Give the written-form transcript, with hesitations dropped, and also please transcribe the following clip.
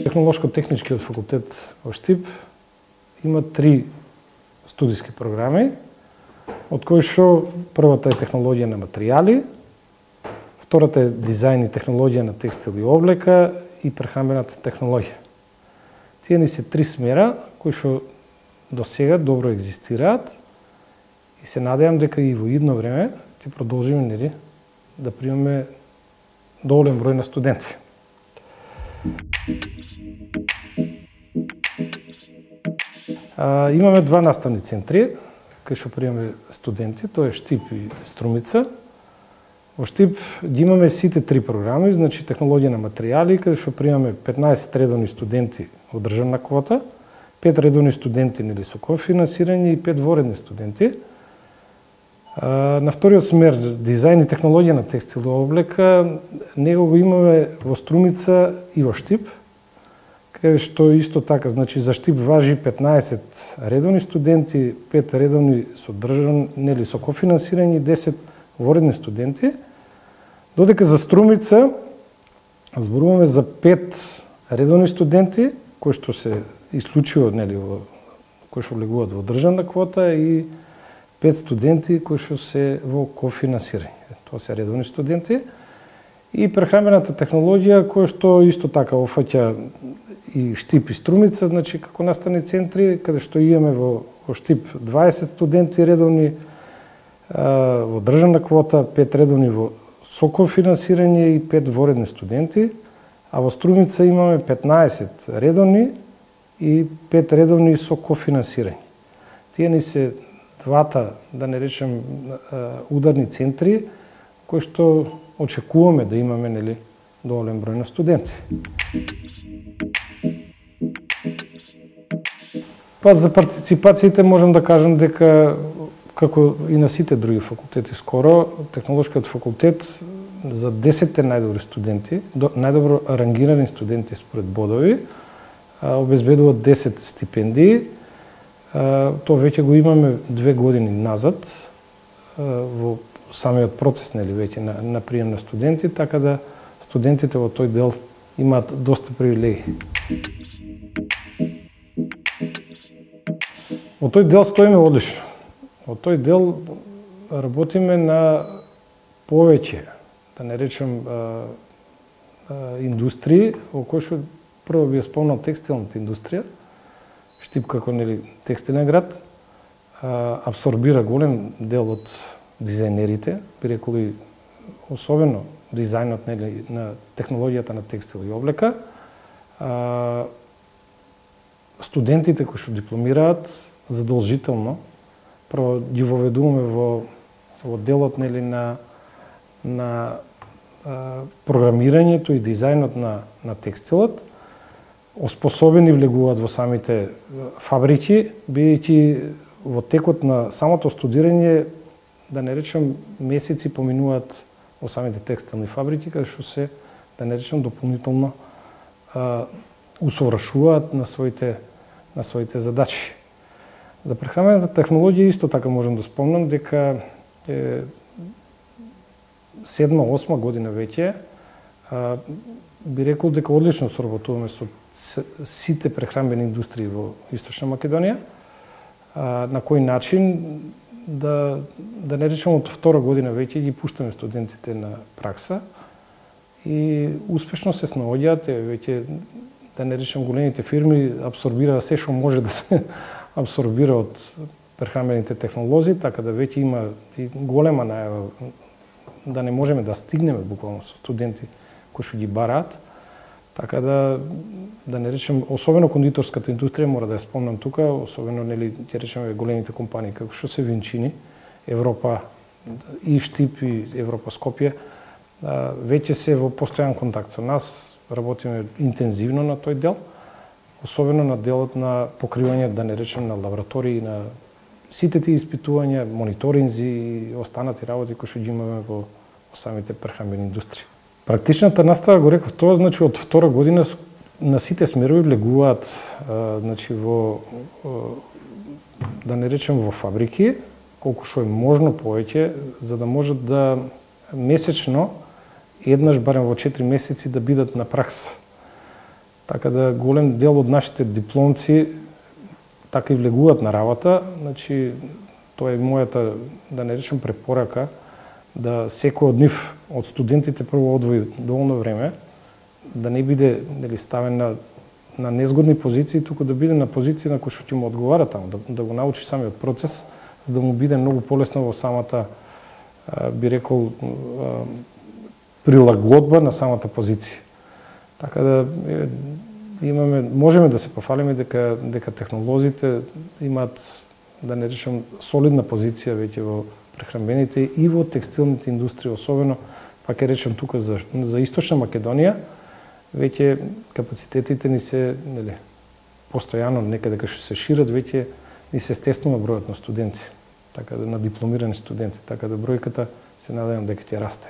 Технолошко-техничкиот факултет во Штип има 3 студиски програми, од кои што првата е технологија на материјали, втората е дизајн и технологија на текстил и облека и прехрамбената технологија. Тие ни се 3 смера кои што до сега добро екзистираат и се надевам дека и во идно време ќе продолжиме да примаме доволен број на студенти. Имаме 2 наставни центри кај што примаме студенти, тоа е Штип и Струмица. Во Штип ги имаме сите 3 програми, значи технологија на материјали, каде што примаме 15 редовни студенти од државна квота, 5 редовни студенти со кофинансирање и 5 воредни студенти. На вториот смер, дизајн и технологија на текстил и облека, него го имаме во Струмица и во Штип, каде што исто така, значи за Штип важи 15 редовни студенти, 5 редовни со кофинансирање и 10 воредни студенти, додека за Струмица зборуваме за 5 редовни студенти кои што се исклучиво кои што влегуваат во државна квота и 5 студенти кои што се во кофинансирање. Тоа се редовни студенти. И прехрамбената технологија која што исто така офаќа и Штип и Струмица, значи како наставни центри, каде што имаме во Штип 20 студенти редовни во државна квота, 5 редовни со кофинансирање и 5 воредни студенти, а во Струмица имаме 15 редовни и 5 редовни со кофинансирање. Тие ни се двата, да не речем, ударни центри, кои што очекуваме да имаме доволен број на студенти. За партиципациите можам да кажам дека, како и на сите други факултети скоро, Технолошкиот факултет за 10 најдобри студенти, најдобро рангирани студенти според бодови, обезбедува 10 стипендии. Тоа веќе го имаме 2 години назад во самиот процес веќе на прием на студенти, така да студентите во тој дел имаат доста привилегии. Во тој дел стоиме одлично. Во тој дел работиме на повеќе, да не речем, индустрии, во кој што прво би ја спомнал текстилната индустрија. Штип како текстилен град абсорбира голем дел од дизајнерите, би реколи особено дизајнот на технологијата на текстил и облека. Студентите кои што дипломираат задолжително прво ги воведуваме во делот на програмирањето и дизајнот на текстилот. Оспособени влегуваат во самите фабрики, бидејќи во текот на самото студирање, да не речем, месеци поминуваат во самите текстилни фабрики, каде што се, да не речем, дополнително усовршуваат на своите задачи. За прехрамбената технологија исто така можам да спомнам дека 7-8 година веќе би рекол дека одлично соработуваме со сите прехрамбени индустрии во Источна Македонија. На кој начин да не речем од втора година веќе ги пуштаме студентите на пракса и успешно се снаоѓаат, веќе да не речем големите фирми абсорбираат се што може да се абсорбира од прехрамбените технолози, така да веќе има и голема најава да не можеме да стигнеме буквално со студенти кои што ги бараат. Така да не речем, особено кондиторската индустрија, мора да ја спомнам тука, особено ќе речеме големите компании како што се Винчини, Европа и Штип и Европа Скопје, веќе се во постојан контакт со нас, работиме интензивно на тој дел, особено на делот на покривање, да не речем, на лаборатории, на сите тие испитувања, мониторинзи и останати работи кои што ги имаме во самите прехрамбени индустрии. Практичната настава, го реков тоа, значи од втора година на сите смерови влегуваат, значи да не речем во фабрики, колку што е можно повеќе, за да можат да месечно еднаш барем во 4 месеци да бидат на пракса. Така да голем дел од нашите дипломци така и влегуваат на работа, значи тоа е мојата, да не речем препорака, да секој од нив, од студентите прво одвои доволно време, да не биде ставен на незгодни позиции, туку да биде на позиција на кој што ќе му одговара таму, да го научи самиот процес, за да му биде многу полесно во самата, би рекол, прилагодба на самата позиција. Така да можеме да се пофалиме дека технолозите имаат, да не речем, солидна позиција веќе во прехранбените и во текстилните индустрии, особено, па ќе речем тука за Источна Македонија, веќе капацитетите ни се постојано некаде кај што се шират, веќе ни се стеснува бројот на студенти, така да на дипломирани студенти, така да бројката се надевам дека ќе расте.